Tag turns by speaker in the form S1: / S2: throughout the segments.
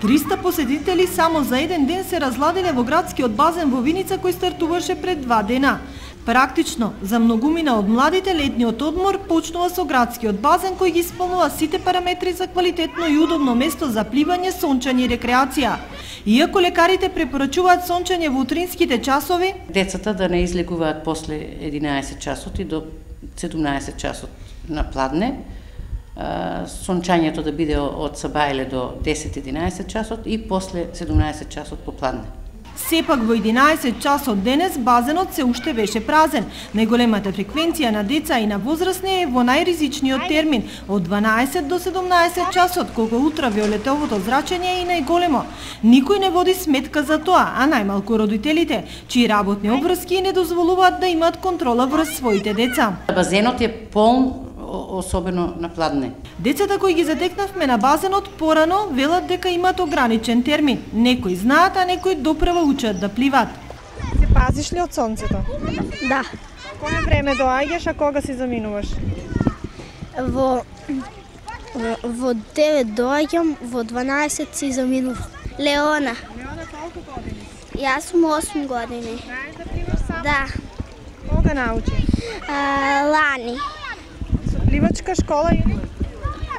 S1: 300 посетители само за еден ден се разладиле во градскиот базен во Виница кој стартуваше пред 2 дена. Практично, за многумина од младите летниот одмор почнува со градскиот базен кој ги исполнува сите параметри за квалитетно и удобно место за пливање, сончање и рекреација. Иако лекарите препорачуваат сончање во утринските часови,
S2: децата да не излегуваат после 11 часот и до 17 часот на пладне, сончањето да биде од сабајле до 10-11 часот и после 17 часот попладне.
S1: Сепак во 11 часот денес базенот се уште беше празен. Најголемата фреквенција на деца и на возрастни е во најризичниот термин од 12 до 17 часот, кога ултравиолетовото зрачење е и најголемо. Никој не води сметка за тоа, а најмалку родителите, чии работни обврски не дозволуваат да имаат контрола врз своите деца.
S2: Базенот е полн, особено на пладне.
S1: Децата кои ги затекнавме на базенот порано велат дека имаат ограничен термин. Некои знаат, а некои допрева учат да пливат.
S3: Се пазиш ли од сонцето?
S4: Да.
S3: Кое време доаѓаш, а кога си заминуваш?
S4: Во 9 доаѓам, во 12 си заминувам. Леона.
S3: Леона, колку години?
S4: Јас сум 8 години.
S3: Знаеш да пливаш сам?
S4: Да.
S3: Кога научи?
S4: Лани.
S3: Со пливачка школа или?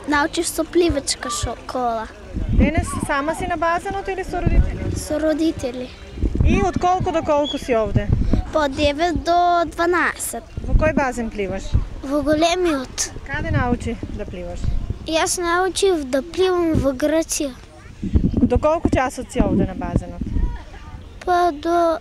S4: Научив со пливачка школа.
S3: Денес сама си на базенот или со родители?
S4: Со родители.
S3: И од колку до колку си овде?
S4: По 9 до 12.
S3: Во кој базен пливаш?
S4: Во големиот.
S3: Каде научи да пливаш?
S4: Јас научив да пливам во Грција.
S3: До колку часот си овде на базенот?
S4: Па до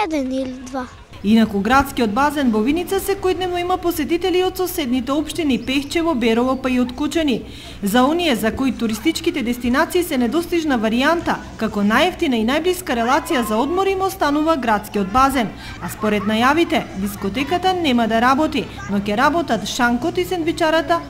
S4: 1 или 2.
S1: Инаку градскиот базен во Виница секојдневно има посетители од соседните општини Пехчево, Берово па и од Кучани. За оние за кои туристичките дестинации се недостижна варијанта, како најевтина и најблиска релација за одмор им останува градскиот базен. А според најавите, дискотеката нема да работи, но ќе работат шанкот и сендвичарата